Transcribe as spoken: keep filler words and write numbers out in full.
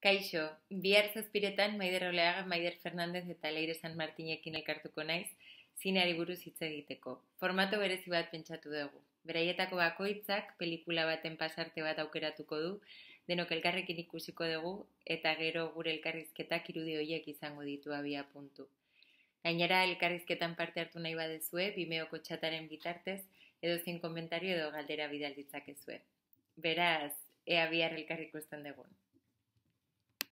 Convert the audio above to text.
Kaixo, bihar zazpiretan Maider Oleaga, Maider Fernandez eta Leire San Martinekin elkartuko naiz, zineari buruz hitz egiteko. Formato berezi bat pentsatu dugu. Beraietako bakoitzak pelikula baten pasarte bat aukeratuko du, denok elkarrekin ikusiko dugu, eta gero gure elkarrizketak irudi horiek izango ditu abia puntu. Gainera, elkarrizketan parte hartu nahi badezue, Vimeoko txataren bitartez, edo zein komentario edo galdera bidal ditzakezue. Beraz, ea bihar elkar ikusten dugun.